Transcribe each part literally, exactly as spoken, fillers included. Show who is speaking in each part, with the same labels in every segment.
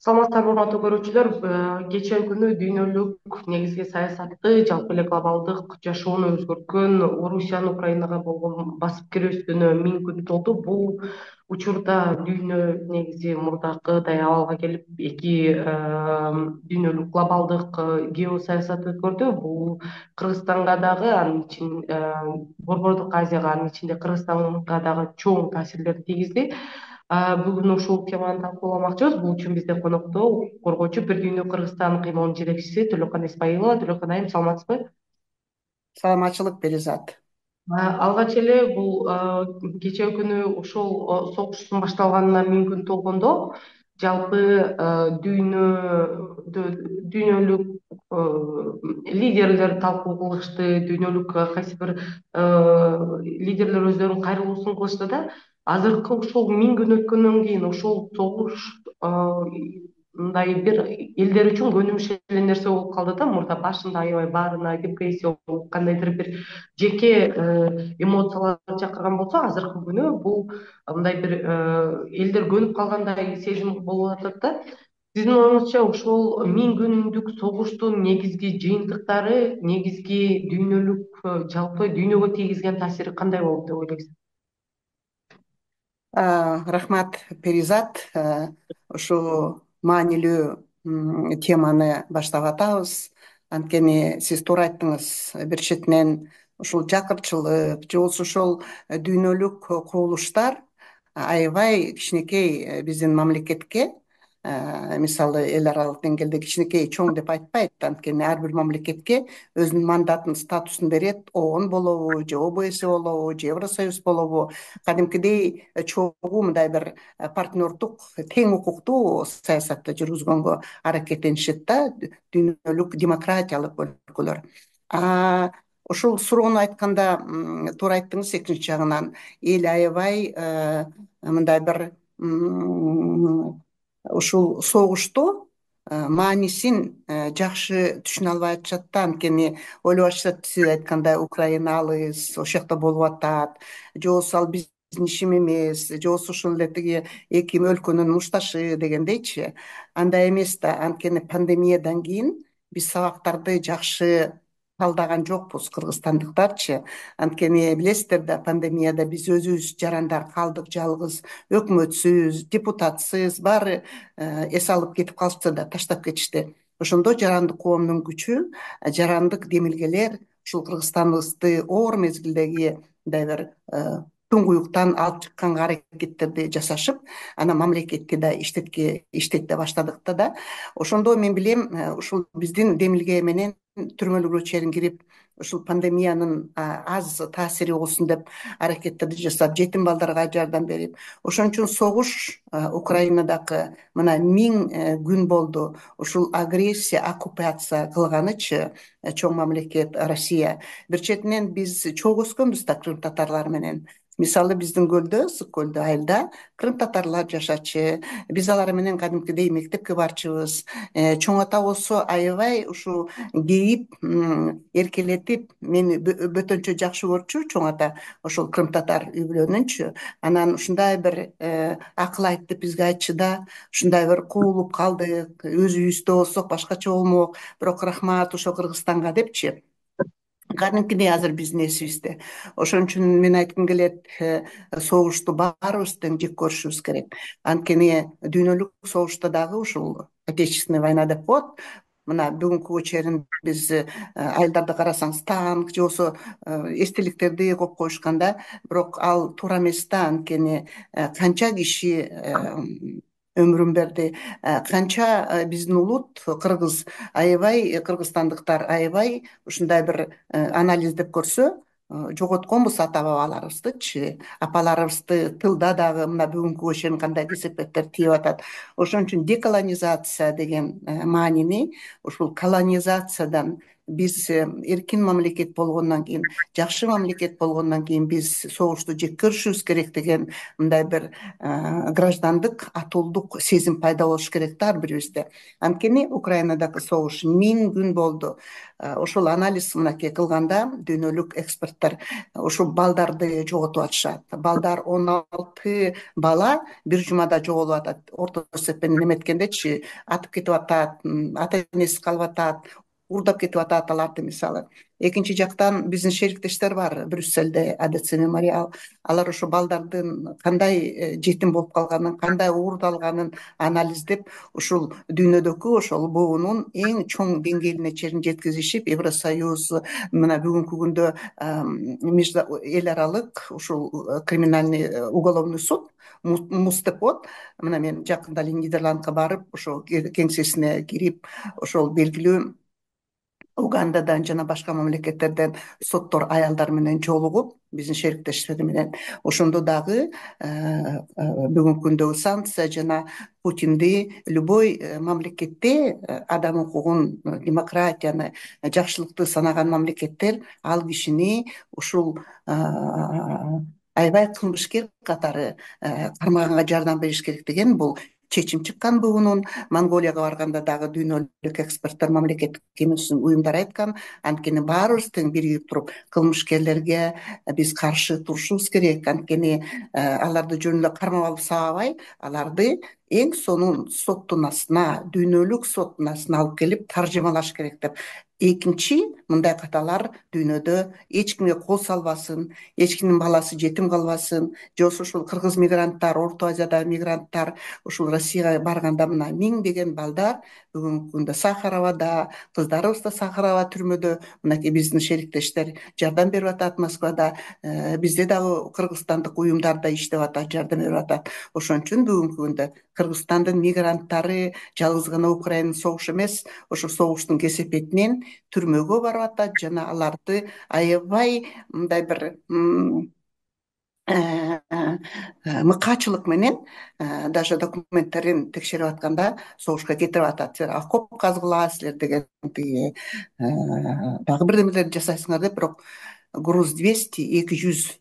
Speaker 1: Саламатсыздарбы урматтуу көрүүчүлөр. Кечээ күнү дүйнөлүк негизги саясатты, жалпы эле глобалдык жашоону өзгөрткөн Орусиянын Украинага болгон басып кирүүсүнө миң күн толду. Бул учурда дүйнө негизи мурдакыдай абалга келип, эки дүйнөлүк глобалдык геосаясат өткөрдү. Бул Кыргызстанга дагы, анын ичин Борбордук Азияга, анын ичинде Кыргызстанга дагы чоң таасирлерин тийгизди. Бүгүн ушул теманы талкууламакчыбыз. Бул үчүн бизде конокто коргоочу Бир дүйнө Кыргызстан кыймылынын жетекчиси Төлөкөн Эсмаилова. Төлөкөн айым, саламатсызбы?
Speaker 2: Саламатчылык Перизат.
Speaker 1: Алгач эле бул кечээ күнү ошол согуштун башталганына миң күн толгондо жалпы дүйнөдө дүйнөлүк лидерлер талкуу кылышты, дүйнөлүк кайсы бир лидерлер өздөрүнүн кайрылуусун кылышты да. Азыркы ушул миң күн өткөндөн кийин ошол согуш мындай бир элдер үчүн көнүмүш эле нерсе болуп калды да. Мурда башында аябай баарына депрессия болуп, кандайдыр бир жеке эмоциялар чакырган болсо, азыркы күнү бул мындай бир элдер көнүп калгандай сезим болуп атат да. Сиздин оюңузча ушул миң күндүк согуштун негизги жыйынтыктары, негизги дүйнөлүк, жалпы дүйнөгө тийгизген таасири кандай болот деп ойлойсуз?
Speaker 2: Рахмат, Перизат. Ушул маанилүү теманы баштап атабыз. Анткени сиз туура айттыңыз. Бир четинен ушул жакырчылык же болбосо ошол дүйнөлүк кубулуштар аябай кичинекей биздин мамлекетке, мисалы эл аралык деңгээлде кичинекей, чоң деп айтпайт. Анткени ар бир мамлекетке өзүнүн мандатын, статусун берет. ООН болобу, же ОБС болобу, же Евросоюз болобу. Кадимкидей чогуу мындай бир партнердук, тең укуктуу саясатты жүргүзгөнгө аракеттенишет да дүйнөлүк демократиялык өлкөлөр. Ушул суроону айтканда туура айттыңыз. Экинчи жагынан эл аябай мындай бир ушул согушту маанисин жакшы түшүнө албай атышат да. Анткени ойлоп атышат, сиз айткандай, Украина алыс, ошол жакта болуп атат, же болбосо ал биздин ишим эмес, же болбосо ушул эле тиги эки өлкөнүн мушташы дегендейчи. Андай эмес да. Анткени пандемиядан кийин биз сабактарды жакшы талдаган жокпуз, кыргызстандыктарчы. Анткени билесиздер да, пандемияда биз өзүбүз жарандар калдык, жалгыз, өкмөтсүз, депутатсыз, баары эс алып кетип калышты да, таштап кетишти. Ошондо жарандык коомдун күчү, жарандык демилгелер ушул Кыргызстаныбызды оор мезгилдеги мындай бир туңгуюктан алып чыкканга аракеттерди жасашып, анан мамлекетти да иштетке иштете баштадык да. Ошондо мен билем, ушул биздин демилге менен түрмөлүккө чейин кирип, ушул пандемиянын аз таасири болсун деп аракеттерди жасап, жетим балдарга жардам берип, ошон үчүн согуш Украинадагы мына миң күн болду. Ушул агрессия, оккупация кылганычы чоң мамлекет Россия. Бир четинен биз чогуу өскөнбүз да крым татарлары менен. Мисалы биздин көлдө, Ысык көлдө, Айылда крым татарлар жашачы. Биз алар менен кадимкидей мектепке барчыбыз. Чоң ата болсо аябай ушу кейип, эркелетип, мени бөтөнчө жакшы көрчү чоң ата, ошол крым татар үй бүлөнүнчү. Анан ушундай бир акыл айт деп бизге айтчы да, ушундай бир куулуп калдык, өз үйүбүздө болсок башкача болмок, бирок рахмат ошо Кыргызстанга депчи. Кадимкидей азыр биздин эсибизде. Ошон үчүн мен айткым келет, согушту баарыбыз тең жек көрүшүбүз керек. Анткени дүйнөлүк согушта дагы ушул отечественная война деп коет. Мына бүгүнкүгө чейин биз айылдарды карасаңыз, танк же болбосо эстеликтерди коюп коюшканда, бирок ал туура эмес да. Анткени канча киши өмүрүн берди, канча биздин улут кыргыз аябай, кыргызстандыктар аябай ушундай бир анализдеп көрсө, жоготконбуз ата бабаларыбыздычы, апаларыбызды. Тылда дагы мына бүгүнкүгө чейин кандай кесепеттер тийип атат. Ошон үчүн деколонизация деген маанини, ушул колонизациядан биз эркин мамлекет болгондон кийин, жакшы мамлекет болгондон кийин биз согушту жек көрүшүбүз керек деген мындай бир граждандык атуулдук сезим пайда болуш керек да ар бирибизде. Анткени Украинадагы согуш миң күн болду. Ошол анализ мынакей кылганда дүйнөлүк эксперттер ушул балдарды жоготуп атышат. Балдар он алты бала бир жумада жоголуп атат. Орто эсеппен неметкендечи, атып кетип атат, ата энеси калып атат, уурдап кетип атат аларды мисалы. Экинчи жактан биздин шериктештер бар Брюссельде, АДЦ мемориал. Алар ошо балдардын кандай жетим болуп калганын, кандай уурдалганын анализдеп, ушул дүйнөдөгү ошол буунун эң чоң деңгээлине чейин жеткизишип, Евросоюз мына бүгүнкү күндө эл аралык ушул криминальный уголовный суд МУС деп коет. Мына мен жакында эле Нидерландка барып, ошол кеңсесине кирип, ошол белгилүү Угандадан жана башка мамлекеттерден соттор аялдар менен жолугуп, биздин шериктештер менен ошондо дагы бүгүнкү күндөгү санкция жана Путинди любой мамлекетте адам укугун, демократияны, жакшылыкты санаган мамлекеттер ал кишини ушул аябай кылмышкер катары кармаганга жардам бериш керек деген бул чечим чыккан буунун. Монголияга барганда дагы дүйнөлүк эксперттер, мамлекеттик эмес уюмдар айткан. Анткени баарыбыз тең биригип туруп кылмышкерлерге биз каршы турушубуз керек. Анткени аларды жөн эле кармап алып сабабай, аларды эң сонун соттун астына, дүйнөлүк соттун астына алып келип таржымалаш керек деп. Экинчи, мындай каталар дүйнөдө эч кимге кол салбасын, эч кимдин баласы жетим калбасын. Же ошол кыргыз мигранттар, Орто Азиядагы мигранттар ушул Россияга барганда мына миңдеген балдар бүгүнкү күндө Сахаровада, кыздарыбыз да Сахарова түрмөдө, мынакей биздин шериктештер жардам берип атат Москвада, бизде дагы кыргызстандык уюмдар да иштеп атат, жардам берип атат. Ошон үчүн бүгүнкү күндө Кыргызстандын мигранттары жалгыз гана Украинанын согушу эмес, ошо согуштун кесепетинен түрмөгө барып атат жана аларды аябай мындай бир мыкаачылык менен даже документтерин текшерип атканда согушка кетирип атат. Силер окоп казгыла, деген тиги дагы бирдемелерди жасайсыңар деп, бирок груз двести эки жүз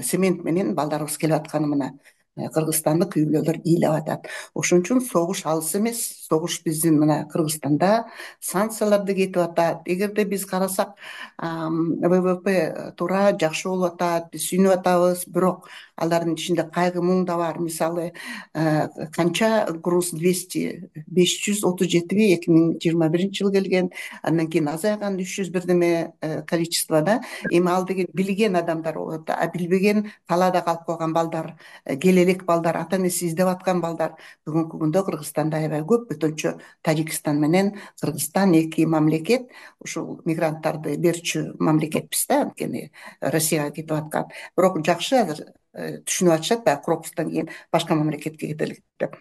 Speaker 2: цемент менен балдарыбыз келип атканы мына кыргызстандык үй-бүлөлөр ыйлап атат. Ошон үчүн согуш алыс эмес. Согуш биздин мына Кыргызстанда санкцияларды кетип атат. Эгерде биз карасак, ВВП туура жакшы болуп атат, биз сүйүнүп атабыз, бирок алардын ичинде кайгы муң да бар. Мисалы, канча груз двести беш жүз отуз жетиби эки миң жыйырма биринчи жылы келген, андан кийин азайган үч жүз бирдеме количествода. Эми ал деген билген адамдар болот, а билбеген талаада калып калган балдар, келелек балдар, ата энеси издеп аткан балдар бүгүнкү күндө Кыргызстанда аябай көп. Бөтөнчө Тажикстан менен Кыргызстан эки мамлекет ушул мигранттарды берчү мамлекетпиз да, анткени Россияга кетип аткан. Бирок жакшы азыр түшүнүп атышат, баягы Крокустан кийин башка мамлекетке кетелик деп.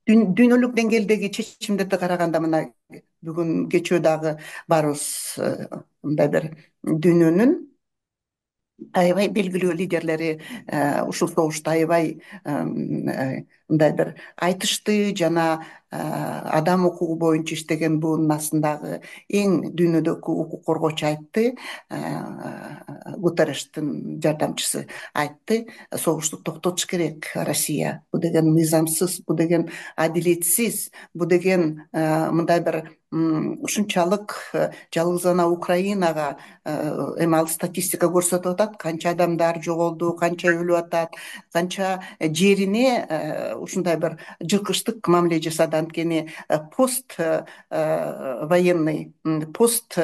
Speaker 2: Дүйнөлүк деңгээлдеги чечимдерди караганда мына бүгүн кечөө дагы баарыбыз мындай бир дүйнөнүн аябай белгилүү лидерлери ушул согушта аябай мындай бир айтышты жана адам укугу боюнча иштеген буунун астындагы эң дүйнөдөгү укук коргоочу айтты, Гутеррештин жардамчысы айтты, согушту токтотуш керек Россия. Бу деген мыйзамсыз, бу деген адилетсиз, бу деген мындай бир ушунчалык жалгыз гана Украинага, эми ал статистика көрсөтүп атат, канча адамдар жоголду, канча өлүп атат, канча жерине ушундай бир жыркычтык мамиле жасады. Анткени пост военный, пост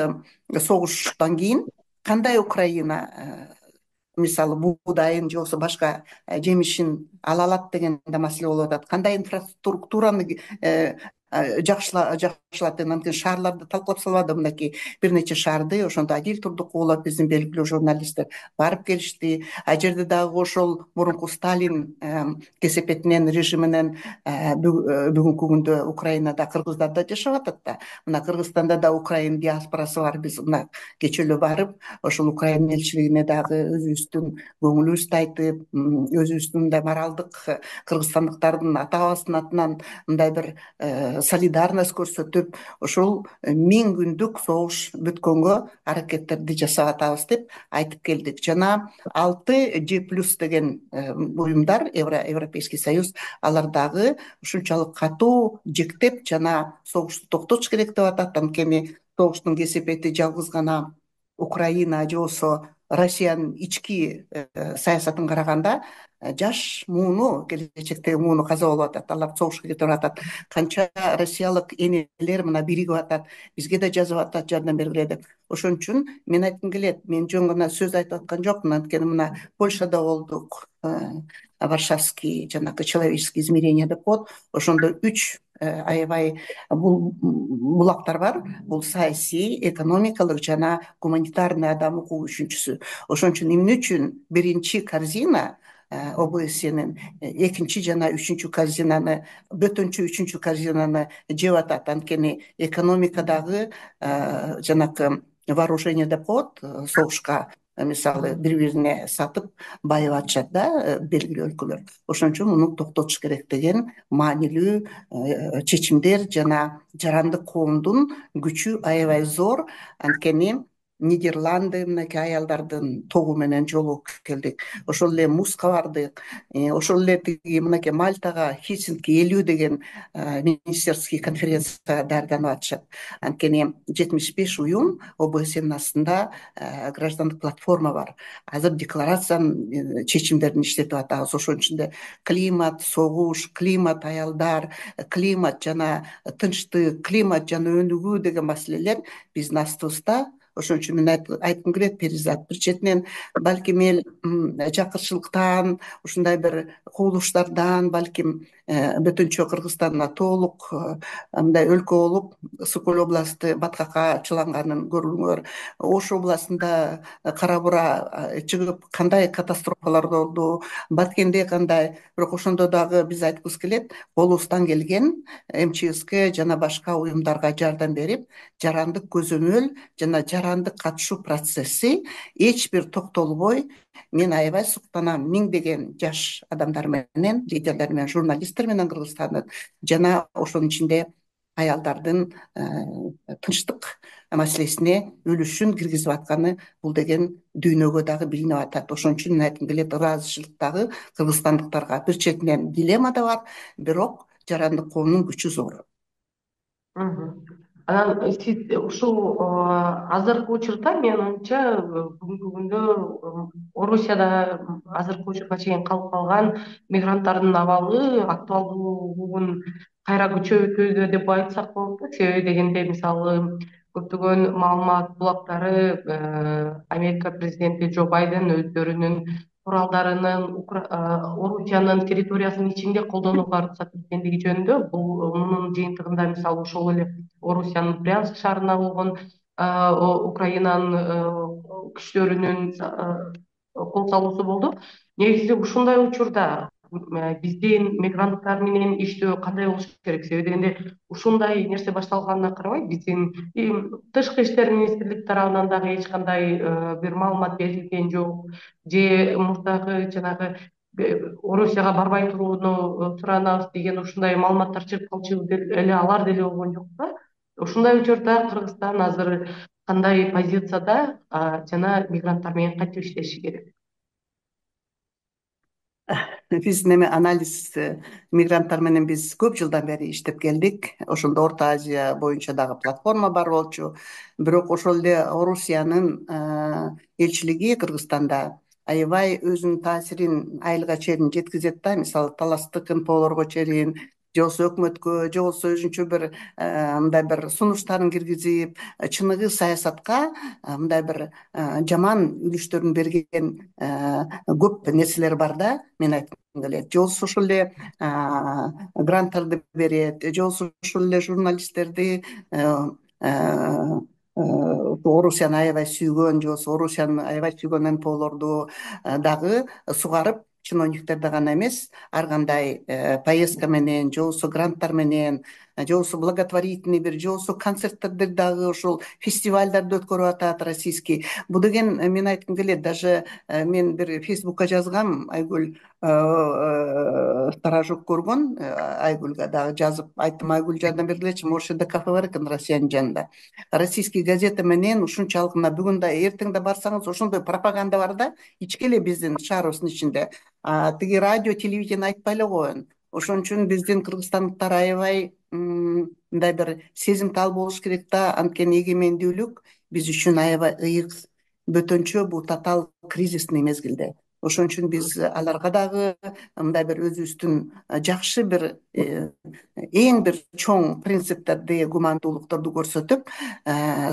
Speaker 2: согуштан кийин кандай Украина мисалы буудайын же болбосо башка жемишин ала алат деген да маселе болуп атат. Кандай инфраструктураны жакшылап деген, анткени шаарларды талкалап салбады. Мынакей бир нече шаарды ошондо Адил Турдукулов, биздин белгилүү журналисттер барып келишти. А жерде дагы ошол мурунку Сталин кесепетинен, режиминен бүгүнкү күндө Украинада кыргыздар да жашап атат да. Мына Кыргызстанда да Украин диаспорасы бар. Биз мына кечээ эле барып, ошол Украин элчилигине дагы өзүбүздүн көңүлүбүздү айтып, өзүбүздүн мындай моралдык кыргызстандыктардын ата бабасынын атынан мындай бир солидарность көрсөтүп ушул миң күндүк согуш бүткөнгө аракеттерди жасап атабыз деп айтып келдик. Жана алты G плюс деген уюмдар, Европейский союз, алар дагы ушунчалык катуу жектеп жана согушту токтотуш керек деп атат. Анткени согуштун кесепети жалгыз гана Украина же болбосо Россиянын ички саясатын караганда жаш мууну, келечектеги мууну каза болуп атат. Алар согушка кетип атат. Канча россиялык энелер мына биригип атат, бизге да жазып атат жардам бергиле деп. Ошон үчүн мен айткым келет, мен жөн гана сөз айтып аткан жокмун. Анткени мына Польшада болдук, Варшавский жанагы человеческие измерения деп коет. Ошондо үч аябай бул булактар бар. Бул саясий, экономикалык жана гуманитарный адам укугу үчүнчүсү. Ошон үчүн эмне үчүн биринчи корзина ОБСЕнин, экинчи жана үчүнчү корзинаны, бөтөнчү үчүнчү корзинаны жеп атат. Анткени экономикадагы жанакы вооружение деп коет, согушка мисалы бири-бирине сатып байып атышат да белгилүү өлкөлөр. Ошон үчүн муну токтотуш керек деген маанилүү чечимдер жана жарандык коомдун күчү аябай зор. Анткени Нидерланды мынакей аялдардын тобу менен жолугуп келдик. Ошол эле Муска бардык. Ошол эле тиги мынакей Мальтага Хельсинки элүү деген министерский конференцияга даярданып атышат. Анткени жетимиш беш уюм ОБСЕнин астында граждандык платформа бар. Азыр декларациянын чечимдерин иштетип атабыз. Ошон ичинде климат, согуш, климат, аялдар, климат жана тынчтык, климат жана өнүгүү деген маселелер биздин астыбызда. Ошон үчүн мен айткым келет, Перизат, бир четинен балким эл жакырчылыктан, ушундай бир кубулуштардан, балким бөтөнчө Кыргызстанда толук мындай өлкө болуп, Сокол областы баткакка көрүңөр. Ош областында кара бура чыгып кандай катастрофалар болду, Баткенде кандай. Бирок ошондо дагы биз айткыбыз келет, колубуздан келген МЧСке жана башка уюмдарга жардам берип, жарандык көзөмөл жана жарандык катышуу процесси эч бир токтолбой, мен аябай суктанам миңдеген жаш адамдар менен, лидерлер менен, журналисттер менен Кыргызстандын, жана ошонун ичинде аялдардын тынчтык маселесине үлүшүн киргизип атканы бул деген дүйнөгө дагы билинип атат. Ошон үчүн мен айткым келет, ыраазычылык дагы кыргызстандыктарга. Бир четинен дилемма да бар, бирок жарандык коомдун күчү зор.
Speaker 1: Анан сиз ушул азыркы учурда менин оюмча бүгүнкү күндө Орусияда азыркы учурга чейин калып калган мигранттардын абалы, актуалдуулугун кайра күчөтүүдө деп айтсак болот да. Себеби дегенде мисалы көптөгөн маалымат булактары Америка президенти Джо Байден өздөрүнүн куралдарынын Орусиянын территориясынын ичинде колдонууга уруксат беркендиги жөнүндө, бул мунун жыйынтыгында мисалы ошол эле Орусиянын Брянск шаарына болгон Украинанын күчтөрүнүн кол салуусу болду. Негизи ушундай учурда биздин мигранттар менен иштөө кандай болуш керек? Себеби дегенде ушундай нерсе башталганына карабай, биздин тышкы иштер министрлиги тарабынан дагы эч кандай бир маалымат берилген жок, же мурдагы жанагы Орусияга барбай турууну суранабыз деген ушундай маалыматтар чыгып калчу эле алар деле болгон жок да. Ушундай учурда Кыргызстан азыр кандай позицияда жана мигранттар менен кантип иштеши керек?
Speaker 2: Биздин эми анализ мигранттар менен биз көп жылдан бери иштеп келдик. Ошондо Орто Азия боюнча дагы платформа бар болчу. Бирок ошол эле Орусиянын элчилиги Кыргызстанда аябай өзүнүн таасирин айылга чейин жеткизет да. Мисалы таластык НПОлорго чейин, же болбосо өкмөткө, же болбосо өзүнчө бир мындай бир сунуштарын киргизип, чыныгы саясатка мындай бир жаман үлүштөрүн берген көп нерселер бар да, мен айткым келет. Же болбосо ошол эле гранттарды берет, же болбосо ошол эле журналисттерди Орусияны аябай сүйгөн, же болбосо Орусияны аябай сүйгөн НПОлорду дагы сугарып, чиновниктерди гана эмес, ар кандай поездка менен, же болбосо гранттар менен, же болбосо благотворительный бир, же болбосо концерттерди дагы ошол фестивалдарды өткөрүп атат российский. Бул деген мен айткым келет, даже мен бир Фейсбукка жазгам, Айгүл, сторожок көргөн, Айгүлгө дагы жазып айттым, Айгүл жардам бергилечи, могу жерде кафе бар экен Россиянын жанында. Российский газета менен ушунчалык мына бүгүн да эртең да барсаңыз ошондой пропаганда бар да, ички эле биздин шаарыбыздын ичинде. Тиги радио, телевидение айтпай эле коеюн. Ошон үчүн биздин кыргызстандыктар аябай мындай бир сезимтал болуш керек да, анткени эгемендүүлүк биз үчүн аябай ыйык бөтөнчө, бул татаал кризисный мезгилде. Ошон үчүн биз аларга дагы мындай бир өзүбүздүн жакшы бир эң бир чоң принциптерди, гумандуулуктарды көрсөтүп,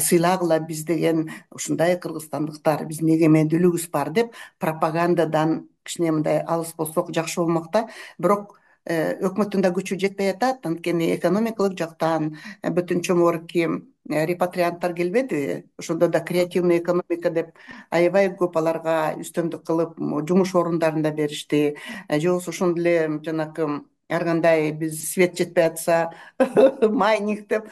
Speaker 2: сыйлагыла биз деген ушундай кыргызстандыктар, биздин эгемендүүлүгүбүз бар деп пропагандадан кичине мындай алыс болсок жакшы болмок да. Бирок өкмөттүн да күчү жетпей атат, анткени экономикалык жактан бөтөнчө могорки репатрианттар келбедиби, ошондо да креативный экономика деп аябай көп аларга үстөмдүк кылып жумуш орундарын да беришти. Же болбосо ошондой эле жанакы ар кандай биз свет жетпей атса майнинг деп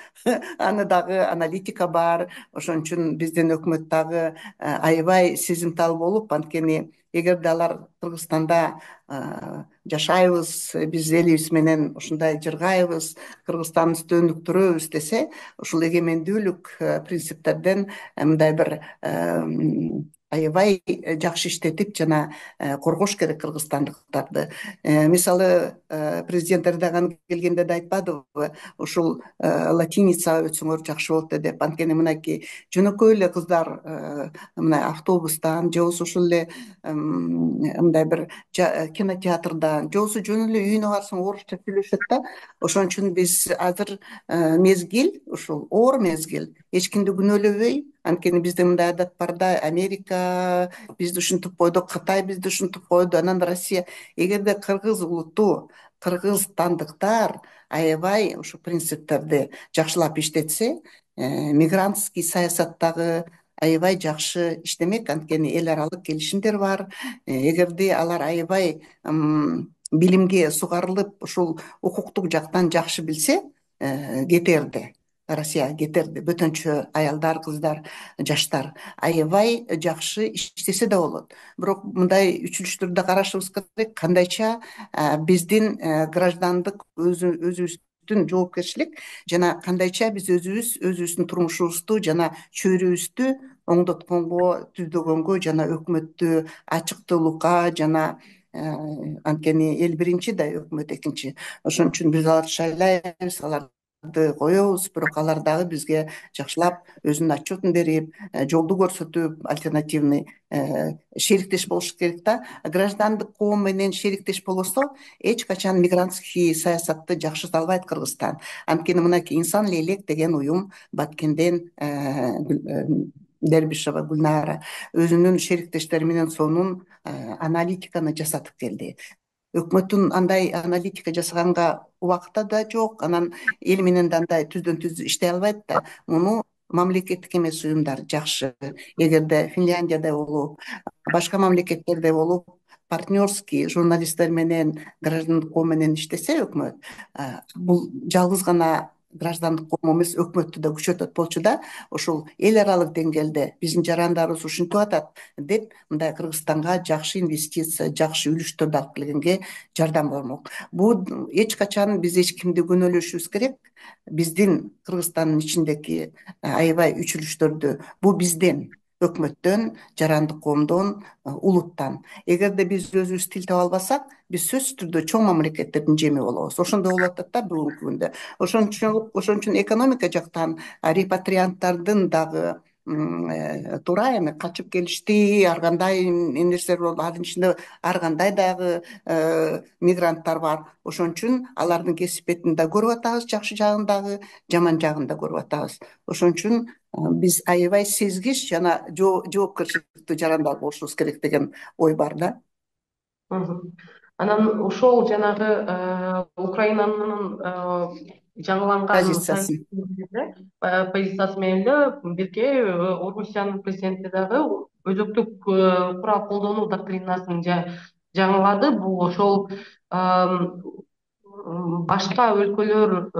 Speaker 2: аны дагы аналитика бар. Ошон үчүн биздин өкмөт дагы аябай сезимтал болуп, анткени эгерде алар Кыргызстанда жашайбыз, биз элибиз менен ушундай жыргайбыз, Кыргызстандыбызды өнүктүрөбүз десе, ушул эгемендүүлүк принциптерден мындай бир аябай жакшы иштетип жана коргош керек кыргызстандыктарды. Мисалы президент Эрдоган келгенде да айтпадыбы, ушул латиница өтсөңөр жакшы болот деп. Анткени мынакей жөнөкөй эле кыздар мына автобустан же болбосо ушул эле мындай бир кинотеатрдан же болбосо жөн эле үйүнө барсаң орусча сүйлөшөт да. Ошон үчүн биз азыр мезгил, ушул оор мезгил, эч кимди күнөөлөбөй, анткени бизде мындай адат бар да, Америка бизди ушинтип койду, Кытай бизди ушинтип койду, анан Россия. Эгерде кыргыз улуту, кыргызстандыктар аябай ушу принциптерди жакшылап иштетсе, мигрантский саясаттагы аябай жакшы иштемек, анткени эл аралык келишимдер бар. Эгерде алар аябай билимге сугарылып, ушул укуктук жактан жакшы билсе, кетерди. Россияга кетерди. Бөтөнчө аялдар, кыздар, жаштар аябай жакшы иштесе да болот. Бирок мындай үчүлүштөрдү карашыбыз керек, кандайча биздин граждандык өзүбүздүн жоопкерчилик жана кандайча биз өзүбүз өзүбүздүн турмушубузду жана чөйрөбүздү оңдотконго, түздөгөнгө жана өкмөттү ачыктуулукка жана анткени эл биринчи да өкмөт экинчи. Ошон үчүн биз аларды шайлайбыз, аларды коебуз, бирок алар дагы бизге жакшылап өзүнүн отчетун берип, жолду көрсөтүп, альтернативный шериктеш болуш керек да. Граждандык коом менен шериктеш болбосо, эч качан мигрантский саясатты жакшырта албайт Кыргызстан. Анткени мынакей Инсан Лейлек деген уюм Баткенден Дербишева Гүлнара өзүнүн шериктештери менен сонун аналитиканы жасатып келди. Өкмөттүн андай аналитика жасаганга убакыты да жок, анан эл менен да андай түздөн түз иштей албайт да. Муну мамлекеттик эмес уюмдар жакшы, эгерде Финляндиядай болуп, башка мамлекеттерде болуп, партнерский журналисттер менен, граждандык коом менен иштесе өкмөт, бул жалгыз гана граждандык коом эмес, өкмөттү да күчөтөт болчу да. Ошол эл аралык деңгээлде биздин жарандарыбыз ушинтип атат деп, мындай Кыргызстанга жакшы инвестиция, жакшы үлүштөрдү алып келгенге жардам болмок. Бул эч качан биз эч кимди күнөөлөшүбүз керек. Биздин Кыргызстандын ичиндеги аябай үчүлүштөрдү, бул бизден, өкмөттөн, жарандык коомдон, улуттан. Эгерде биз өзүбүз тил таба албасак, биз сөзсүз түрдө чоң мамлекеттердин жеми болобуз. Ошондой болуп атат да бүгүнкү күндө. Ошон үчүн ошон үчүн экономика жактан репатрианттардын дагы туура эми качып келишти, ар кандай нерселер болду, анын ичинде ар кандай дагы мигранттар бар. Ошон үчүн алардын кесипетин да көрүп атабыз, жакшы жагын дагы, жаман жагын да көрүп атабыз. Ошон үчүн биз аябай сезгич жана жоопкерчиликтүү жарандар болушубуз керек деген ой бар да.
Speaker 1: Анан ошол жанагы Украинанын жаңыланган
Speaker 2: позициясы
Speaker 1: позициясы менен эле бирге Орусиянын президенти дагы өзөктүк курал колдонуу доктринасын жаңылады. Бул ошол башка өлкөлөр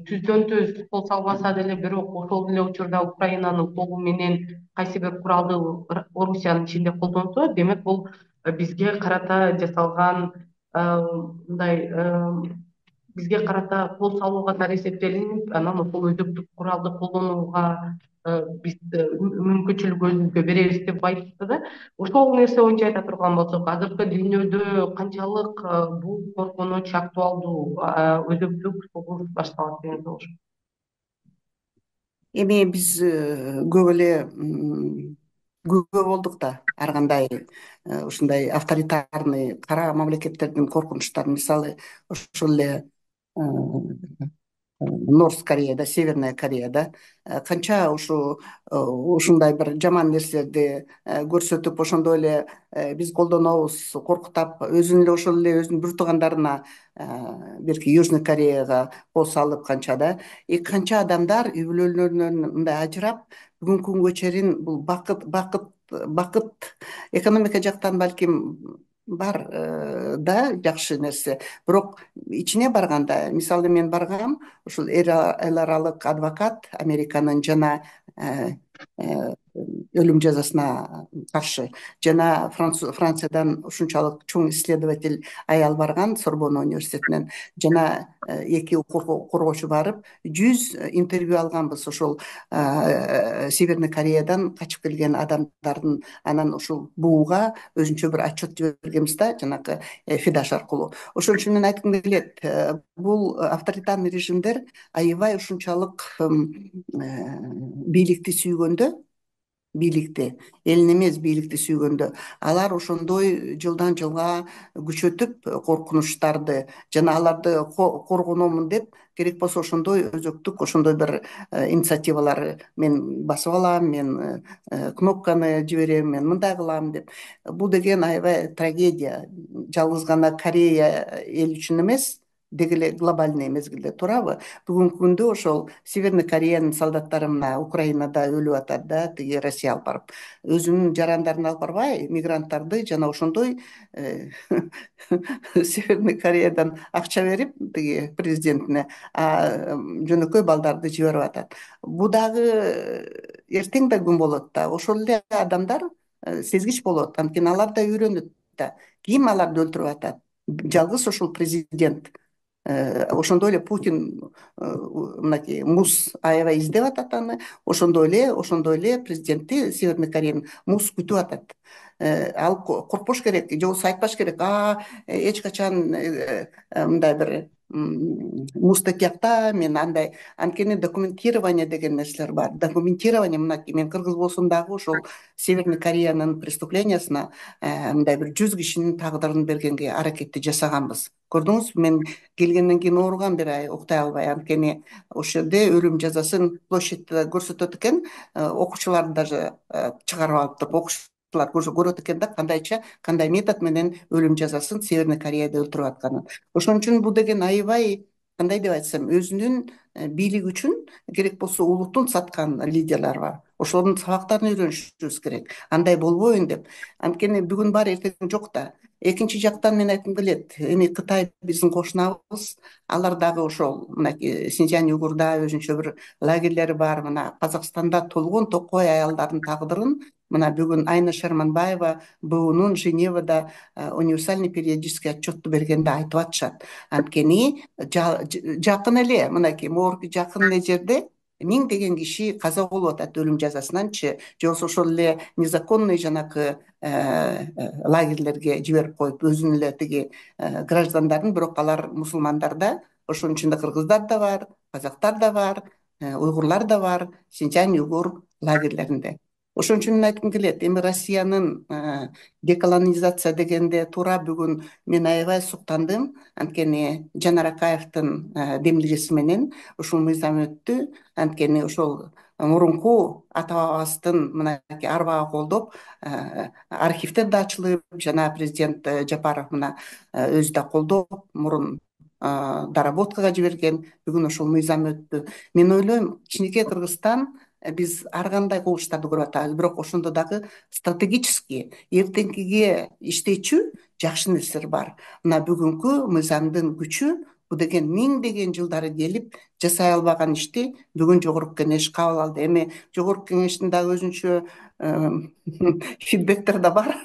Speaker 1: түздөн түз кол салбаса деле, бирок ошол эле учурда Украинанын колу менен кайсы бир куралды Орусиянын ичинде колдонсо, демек бул бизге карата жасалган мындай бизге карата кол салуу катары эсептелинип, анан ошол өзөктүк куралды колдонууга биз мүмкүнчүлүк өзүбүзгө беребиз деп айтышты да. Ошол нерсе боюнча айта турган болсок, азыркы дүйнөдө канчалык бул коркунуч актуалдуу, өзөктүк согуш башталат деген болуш?
Speaker 2: Эми биз көп эле күбө болдук да ар кандай ушундай авторитарный кара мамлекеттердин коркунучтарын. Мисалы ошол эле Норс Кореяда, Северная Кореяда канча ушу ушундай бир жаман нерселерди көрсөтүп, ошондой эле биз колдонобуз, коркутап, өзүн эле ошол эле өзүнүн бир туугандарына, берки Южный Кореяга кол салып канча да, и канча адамдар үй бүлөлөрүнөн мындай ажырап, бүгүнкү күнгө чейин бул бакыт бакыт бакыт экономика жактан балким бар да, жакшы нерсе. Бирок ичине барганда, мисалы мен баргам, ушул эл аралык адвокат, Американын жана өлүм жазасына каршы, жана Франциядан ушунчалык чоң исследователь аял барган Сорбонна университетинен, жана эки коргоочу барып жүз интервью алганбыз ошол Северный Кореядан качып келген адамдардын. Анан ушул бууга өзүнчө бир отчет жибергенбиз да, жанагы Фидаш аркылуу. Ошон үчүн мен айткым келет, бул авторитарный режимдер аябай ушунчалык бийликти сүйгөндө, бийликти, элин эмес бийликти сүйгөндө, алар ошондой жылдан жылга күчөтүп коркунучтарды, жана аларды коргономун деп, керек болсо ошондой өзөктүк, ошондой бир инициативалар мен басып алам, мен кнопканы жиберем, мен мындай кылам деп. Бул деген аябай трагедия. Жалгыз гана Корея эл үчүн эмес, деги эле глобальный мезгилде, туурабы? Бүгүнкү күндө ошол Северный Кореянын солдаттары мына Украинада өлүп атат да, тиги Россия алып барып, өзүнүн жарандарын алып барбай, мигранттарды жана ошондой Северный Кореядан акча берип тиги президентине жөнөкөй балдарды жиберип атат. Бул дагы эртең да күн болот да. Ошол эле адамдар сезгич болот, анткени алар да үйрөнөт да. Ким аларды өлтүрүп атат? Жалгыз ошол президент. Ошондой эле Путин мынакей муз аябай издеп атат аны. Ошондой эле, ошондой эле президентти Северный Кореянын муз күтүп атат. Ал коркпош керек, же болбосо айтпаш керек, а эч качан мындай бир музда тиякта мен андай, анткени документирование деген нерселер бар. Документирование, мынакей мен кыргыз болсом дагы ошол Северный Кореянын преступлениясына мындай бир жүз кишинин тагдырын бергенге аракетти жасаганбыз. Көрдүңүзбү, мен келгенден кийин ооругам бир ай, уктай албай, анткени ошол жерде өлүм жазасын площадьте көрсөтөт экен, окуучуларды даже чыгарып алып туруп окуучулар көрөт экен да, кандайча, кандай метод менен өлүм жазасын Северный Кореяда өлтүрүп атканын. Ошон үчүн бул деген аябай, кандай деп айтсам, өзүнүн бийлиги үчүн керек болсо улутун саткан лидерлер бар. Ошолордун сабактарын үйрөнүшүбүз керек. Андай болбоюн деп. Анткени бүгүн бар, эртең жок да. Экинчи жактан мен айткым келет, эми Кытай биздин кошунабыз, алар дагы ошол мынакей Синьцзянь уйгурда өзүнчө бир лагерлери бар. Мына Казакстанда толгон токой аялдардын тагдырын мына бүгүн Айна Шерманбаева БУнун Женевада универсальный периодический отчетту бергенде айтып атышат. Анткени жакын эле, мынакей могорку жакын эле жерде миңдеген киши каза болуп атат өлүм жазасынанчы, же болбосо ошол эле незаконный жанакы лагерлерге жиберип коюп, өзүнүн эле тиги граждандарын, бирок алар мусулмандар да, ошонун ичинде кыргыздар да бар, казактар да бар, уйгурлар да бар, Синьцзянь уйгур лагерлеринде. Ошон үчүн мен айткым келет, эми Россиянын деколонизация дегенде туура бүгүн мен аябай суктандым, анткени Жанар Акаевдин демилгеси менен ушул мыйзам өттү. Анткени ошол мурунку ата бабабыздын мынакей арбага колдоп архивдер да ачылып, жана президент Жапаров мына өзү да колдоп, мурун доработкага жиберген. Бүгүн ошол мыйзам өттү. Мен ойлойм, кичинекей Кыргызстан биз ар кандай кубулуштарды көрүп атабыз, бирок ошондо дагы стратегический, эртеңкиге иштечү жакшы нерселер бар. Мына бүгүнкү мыйзамдын күчү, бул деген миңдеген жылдары келип жасай албаган ишти бүгүн жогорку кеңеш кабыл алды. Эми жогорку кеңештин дагы өзүнчө фидбектер да бар.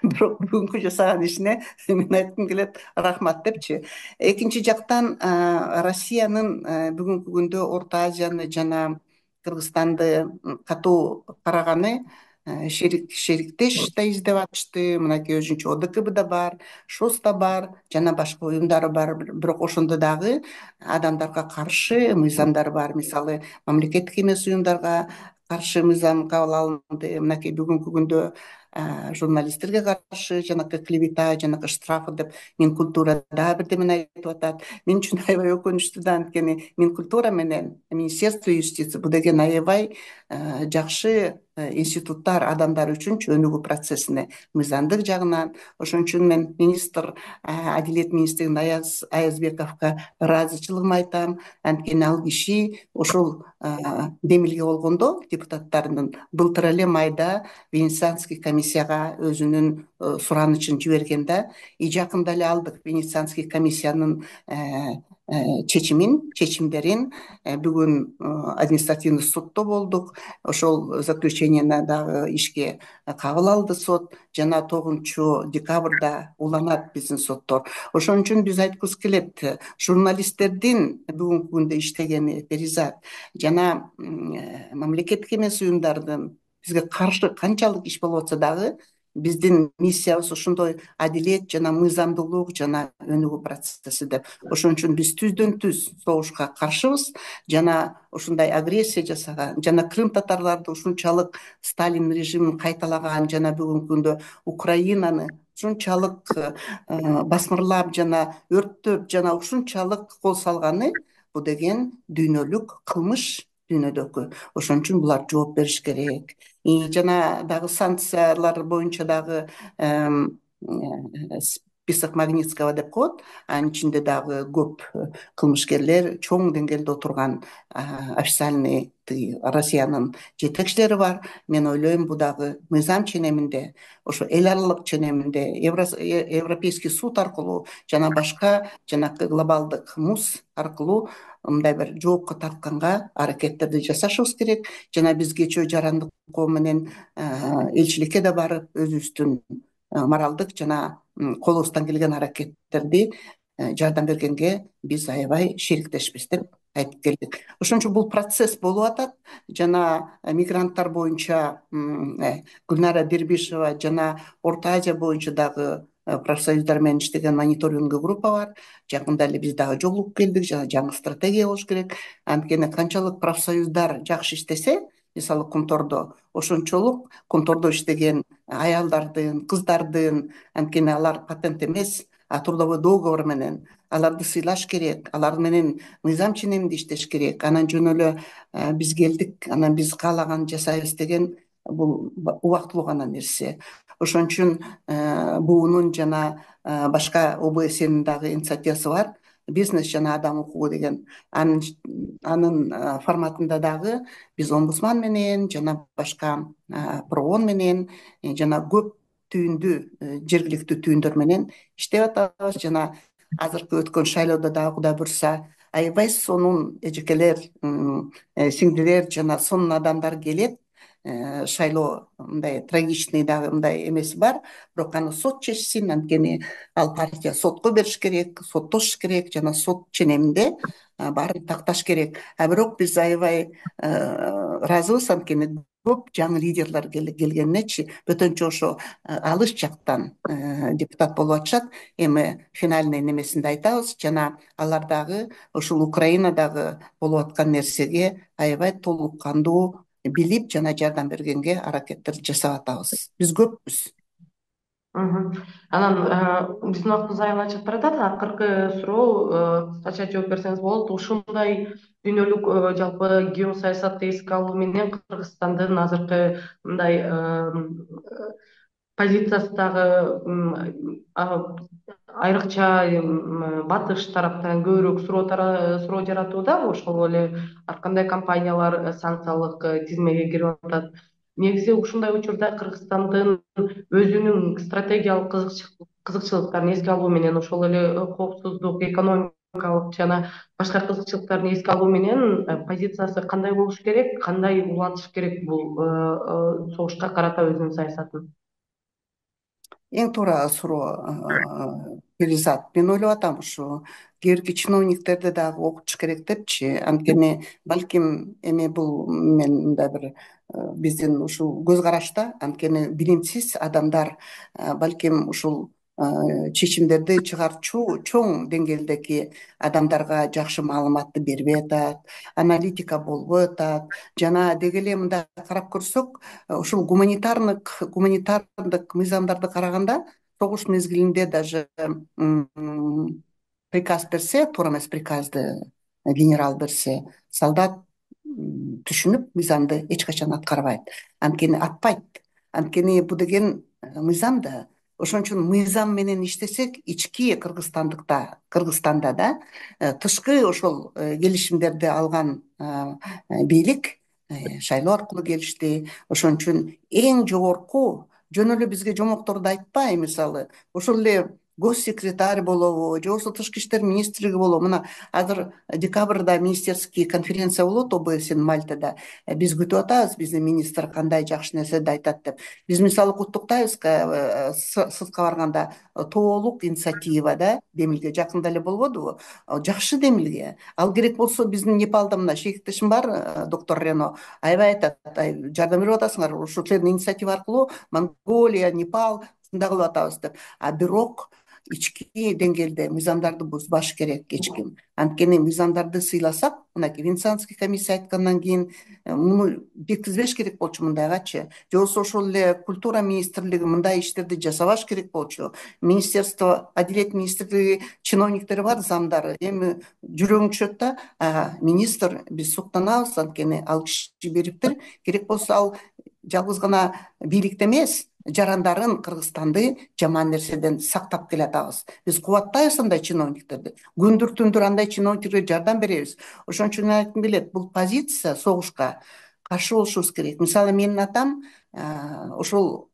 Speaker 2: Бирок бүгүнкү жасаган ишине мен айткым келет рахмат депчи. Экинчи жактан Россиянын бүгүнкү күндө Орто Азияны жана Кыргызстанды катуу караганы, шерик шериктеш да издеп атышты. Мынакей өзүнчө О Д К Б да бар, ШОС да бар, жана башка уюмдары бар. Бирок ошондо дагы адамдарга каршы мыйзамдар бар. Мисалы, мамлекеттик эмес уюмдарга каршы мыйзам кабыл алынды. Мынакей бүгүнкү күндө журналисттерге каршы жанакы клевета, жанакы штрафы деп Минкультура дагы бирдемени айтып атат. Мен үчүн аябай өкүнүчтүү да, анткени Минкультура менен Министерство юстиции бул деген аябай жакшы институттар, адамдар үчүн чөнүгүү процессине мыйзамдык жагынан. Ошон үчүн мен министр, Адилет министрин Аяз Аязбековго ыраазычылыгымды айтам. Анткени ал киши ошол демилге болгондо депутаттардын былтыр эле майда Венецианский комиссияга өзүнүн суранычын жиберген да. И жакында эле алдык Венецианский комиссиянын чечимин, чечимдерин. Бүгүн административный суддо болдук. Ошол заключениени дагы ишке кабыл алды сот. Жана тогузунчу декабрда уланат биздин соттор. Ошон үчүн биз айткыбыз келет, журналисттердин бүгүнкү күндө иштегени перизат жана мамлекеттик эмес уюмдардын бизге каршы канчалык иш болуп атса дагы, биздин миссиябыз ошондой адилет жана мыйзамдуулук жана өнүгүү процесси деп. Ошон үчүн биз түздөн түз согушка каршыбыз жана ушундай агрессия жасаган жана крым татарларды ушунчалык Сталин режимин кайталаган жана бүгүнкү күндө Украинаны ушунчалык басмырлап жана өрттөп жана ушунчалык кол салганы бул деген дүйнөлүк кылмыш дүйнөдөгү. Ошон үчүн булар жооп бериш керек. Жана дагы санкциялар боюнча дагы список Магнитского деп коет. Анын ичинде дагы көп кылмышкерлер, чоң деңгээлде отурган официальный Россиянын жетекчилери бар. Мен ойлойм, бул дагы мыйзам ченеминде, ошо эл аралык ченеминде Европейский суд аркылуу жана башка жанакы глобалдык МУС аркылуу мындай бир жоопко тартканга аракеттерди жасашыбыз керек. Жана биз кечөө жарандык коом менен элчиликке да барып, өзүбүздүн моралдык жана колубуздан келген аракеттерди жардам бергенге биз аябай шериктешпиз деп айтып келдик. Ошон үчүн бул процесс болуп атат. Жана мигранттар боюнча Гүлнара Дербишева жана Орто Азия боюнча дагы профсоюздар менен иштеген мониторинг группа бар. Жакында эле биз дагы жолугуп келдик. Жана жаңы стратегия болуш керек. Анткени канчалык профсоюздар жакшы иштесе, мисалы Кумтордо, ошончолук Кумтордо иштеген аялдардын, кыздардын, анткени алар патент эмес, а трудовой договор менен аларды сыйлаш керек, алар менен мыйзам ченеминде иштеш керек. Анан жөн эле биз келдик, анан биз каалаган жасайбыз деген бул убактылуу гана нерсе. Ошон үчүн буунун жана башка О Б С Нин дагы инициативасы бар. Бизнес жана адам укугу деген. Анын анын форматында дагы биз омбудсман менен жана башка проон менен жана көп түйүндүү жергиликтүү түйүндөр менен иштеп атабыз. Жана азыркы өткөн шайлоодо дагы Кудай буйрса аябай сонун эжекелер, сиңдилер жана сонун адамдар келет. Шайлоо мындай трагичный дагы мындай эмеси бар, бирок аны сот чечсин. Анткени ал партия сотко бериш керек, соттош керек жана сот ченеминде баарын такташ керек. А бирок биз аябай ыраазыбыз, анткени көп жаңы лидерлер келгенинечи. Бөтөнчө ошо алыс жактан депутат болуп атышат. Эми финальный немесинде айтабыз. Жана алар дагы ушул Украинадагы болуп аткан нерсеге аябай толук кандуу билип жана жардам бергенге аракеттерди жасап атабыз. Биз көппүз.
Speaker 1: Анан биздин убактыбыз аябай чыгып баратат. Акыркы суроо, кыскача жооп берсеңиз болот. Ушундай дүйнөлүк жалпы геосаясатты эске алуу менен Кыргызстандын азыркы мындай позициясы дагы айрыкча батыш тараптан көбүрөөк суроо жаратуудабы? Ошол эле ар кандай компаниялар санкциялык тизмеге кирип атат? Негизи ушундай учурда Кыргызстандын өзүнүн стратегиялык кызыкчылыктарын эске алуу менен ошол эле коопсуздук, экономика экономикалык жана башка кызыкчылыктарын эске алуу менен э, позициясы кандай болуш керек, кандай улантыш керек бул э, э, согушка карата өзүнүн саясатын?
Speaker 2: Эң туура суроо, Перизат. Мен ойлоп атам, ушу кээ бирки чиновниктерди дагы окутуш керек депчи. Анткени балким эми бул мен мындай бир э, биздин ушул көз карашта, анткени билимсиз адамдар э, балким ушул э, чечимдерди чыгарчу чоң деңгээлдеги адамдарга жакшы маалыматты бербей атат, аналитика болбой атат. Жана деги эле мындай карап көрсөк, э, ушул гуманитарных гуманитардык мыйзамдарды караганда, согуш мезгилинде даже м, приказ берсе, туура эмес приказды генерал берсе, солдат м, түшүнүп мыйзамды эч качан аткарбайт. Анткени атпайт. Анткени бул деген э, мыйзам да. Ошон үчүн мыйзам менен иштесек, ички Кыргызстандыкта, Кыргызстанда да э, тышкы ошол э, келишимдерди алган э, э, бийлик э, шайлоо аркылуу келишти. Ошон үчүн эң жогорку, жөн эле бизге жомокторду айтпай, мисалы ошол эле госсекретарь болобу же болбосо тышкы иштер министрлиги болобу. Мына азыр декабрда министерский конференция болот о бэ сэнин Мальтада. Э, биз күтүп атабыз биздин министр кандай жакшы нерселерди айтат деп. Биз мисалы куттуктайбыз, э, С- сыртка барганда э, тоолук инициатива да демилге жакында эле болбодубу? Э, жакшы демилге. Ал керек болсо биздин Непалда мына шейиктешим бар, э, доктор Рено аябай айтат, ай, жардам берип атасыңар, ушул силердин инициатива аркылуу Монголия, Непал ушундай кылып атабыз деп. А бирок ички деңгээлде мыйзамдарды бузбаш керек эч ким. Анткени мыйзамдарды сыйласак, мынакей Венецианский комиссия айткандан кийин э, муну жеткизбеш керек болчу мындайгачы. Же болбосо ошол эле культура министрлиги мындай иштерди жасабаш керек болчу. Министерство, Адилет министрлиги чиновниктери бар, замдары. Эми жүрөгүң түшөт да, а, министр биз суктанабыз, анткени ал киши бериптир. Керек болсо ал жалгыз гана бийликти эмес, жарандарын, Кыргызстанды жаман нерседен сактап келатабыз. Биз кубаттайбыз андай чиновниктерди. Күндүр түндүр андай чиновниктерге жардам беребиз. Ошон үчүн мен айткым келет, бул позиция согушка каршы болушубуз керек. Мисалы, менин атам а, ошол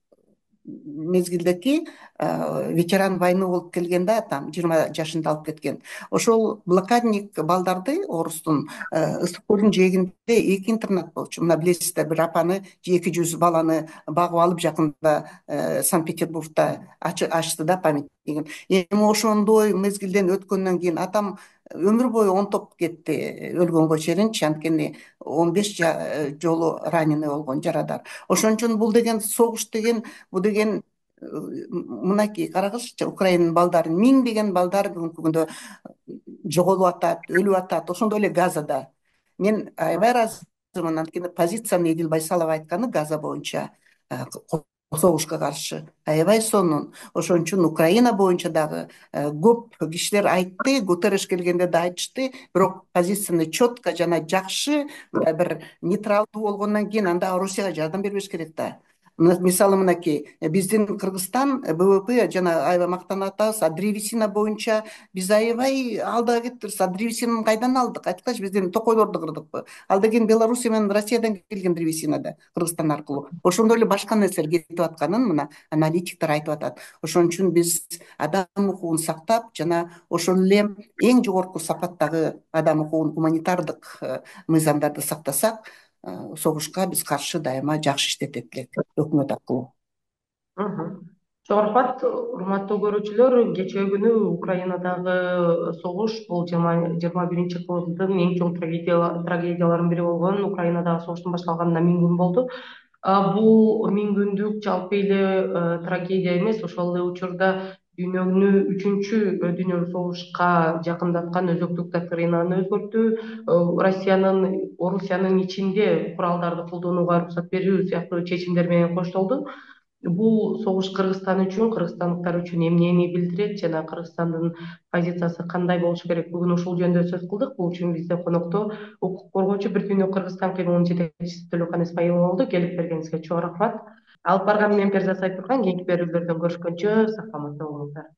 Speaker 2: мезгилдеки э, ветеран войны болуп келген да, там жыйырма жашында алып кеткен. Ошол блокадник балдарды, орустун э, ысык көлдүн жээгинде эки интернат болчу. Мына билесиздер, бир апаны эки жүз баланы багып алып жакында э, Санкт-Петербургда ачы- ачты да памятнигин. Эми ошондой мезгилден өткөндөн кийин атам өмүр бою онтоп кетти, өлгөнгө чейинчи, анткени он беш жа- жолу раненый болгон, жарадар. Ошон үчүн бул деген согуш деген, бул деген э, мынакей карагызчы, Украинанын балдары, миңдеген балдар бүгүнкү күндө жоголуп атат, өлүп атат, ошондой эле Газада. Мен аябай ыраазымын, анткени позицияны Эдил Байсалов айтканы Газа боюнча э, ко- согушка каршы аябай сонун. Ошон үчүн Украина боюнча дагы э, көп кишилер айтты, Гутерреш келгенде да айтышты, бирок позицияны четко жана жакшы, мындай бир нейтралдуу болгондон кийин анда Орусияга жардам бербеш керек да. Мына- Мисалы, мынакей э, биздин Кыргызстан э, бэ вэ пэ жана аябай мактанып атабыз, а древесина боюнча биз аябай алдыга кетипбиз. А древесинаны кайдан алдык? Айткачы, биздин токойлорду кырдыкпы? Ал деген Белоруссия менен Россиядан келген древесина да, Кыргызстан аркылуу. Ошондой эле башка нерселер кетип атканын мына аналитиктер айтып атат. Ошон үчүн биз адам укугун сактап, жана ошол эле эң жогорку сапаттагы адам укугун, гуманитардык э, мыйзамдарды сактасак, э, согушка биз каршы дайыма жакшы иштетет элек өкмөт аркылуу.
Speaker 1: Мгм. Чоң рахмат, урматтуу көрүүчүлөр. Кечээ күнү Украинадагы согуш, бул жыйырма жыйырма биринчи кылымдын эң чоң трагедия- трагедияларынын бири болгон Украинадагы согуштун башталганына миң күн болду. А, бул миң күндүк жалпы эле э, трагедия эмес, ошол эле учурда дүйнөнү үчүнчү э, дүйнөлүк согушка жакындаткан өзөктүк доктринаны өзгөртүү, э, Россиянын Орусиянын ичинде куралдарды колдонууга уруксат берүү сыяктуу чечимдер менен коштолду. Бул согуш Кыргызстан үчүн, кыргызстандыктар үчүн эмнени билдирет жана Кыргызстандын позициясы кандай болуш керек? Бүгүн ушул жөнүндө сөз кылдык. Бул үчүн бизде конокто укук коргоочу Бир дүйнө Кыргызстан кыймылынын жетекчиси Төлөкан Эсмаилов болду. Келип бергениңизге чоң рахмат. Алып барган мен Перзат Сайтурган. Кийинки берүүлөрдөн көрүшкөнчө сак саламатта болуңуздар.